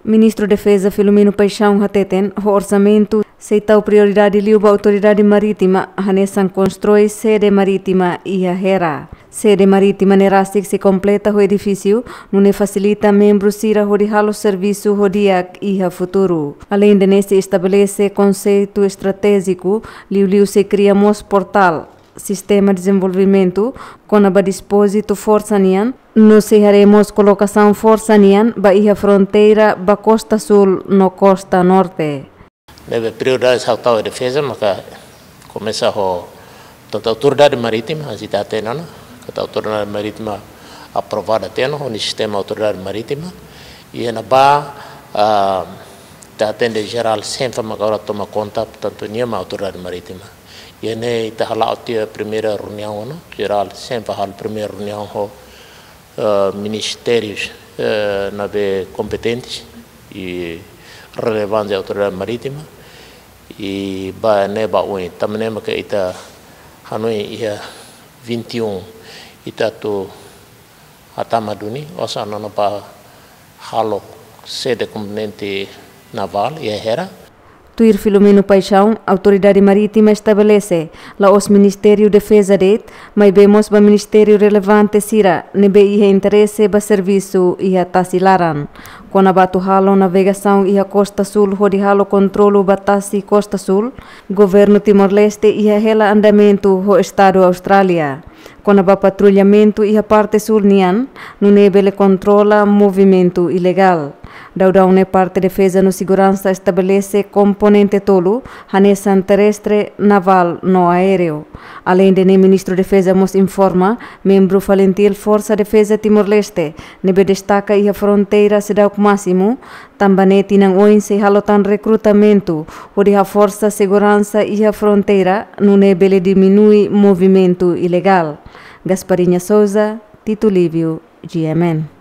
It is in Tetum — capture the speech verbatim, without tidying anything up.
Ministru Defeza Filomeno Paixão hateten, ho orsamentu sei tau prioridade liu ba Autoridade Marítima, hanesan konstrui sede marítima iha Hera. Sede marítima ne'e rasik sei kompleta ho edifísiu, nune'e fasilita membru sira hodi halo servisu ho di'ak iha futuru. Aleinde ne'e sei estabelese konseitu estratéjiku, liuliu sei kria mós portál, sistema dezenvolvimentu, kona-ba dispózitu forsa nian, no sei haree mós kolokasaun forsa nian ba iha fronteira ba kosta súl no kosta norte. Ne'ebé prioridade ha'u tau iha defeza, maka komesa ho, tantu Autoridade Marítima, a gente até não, que a Autoridade Marítima aprovada tem, no sistema Autoridade Marítima, i iha ne'ebá, ah, ita hatene Jenerál Senfa maka agora toma konta, portantu, nia mak Autoridade Marítima. I iha ne'e ita hala'o tiha primeira reuniaun, no Jenerál Senfa halo primeira reuniaun ho, eh, ministérius, eh, ne'ebé kompetentes i relevante Autoridade Marítima, i ba ne'e ba oin, tanba ne'e maka ita hanoin iha vinte e um ita atu hatama duni, osan ona ba halo sede komponente navál iha Hera. Tuir Filomeno Paixão, Autoridade Marítima estabelese la'ós Ministériu Defeza de'it, maibé mós ba ministériu relevante sira ne'ebé iha interese ba servisu iha tasi laran. Kona-ba atu halo navegasaun iha kosta súl hodi halo kontrolu ba tasi kosta súl, Governu Timor-Leste iha hela andamentu ho Estadu Austrália. Kona-ba patrullamentu iha parte súl nian, nune'e bele kontrola movimentu ilegál. Daudaun ne'e parte defeza no seguransa estabelese komponente tolu, hanesan terrestre, navál no aéreu. Aleinde ne'e, Ministru Defeza mós informa, membru FALINTIL Forsa Defeza Timor-Leste, ne'ebé destaka iha fronteira seidauk másimu, tanba ne'e tinan oin sei halo tan rekrutamentu, hodi haforsa seguransa iha fronteira, nune'e bele diminui movimentu ilegál. Gasparinha Souza, Tito Lívio, G M N.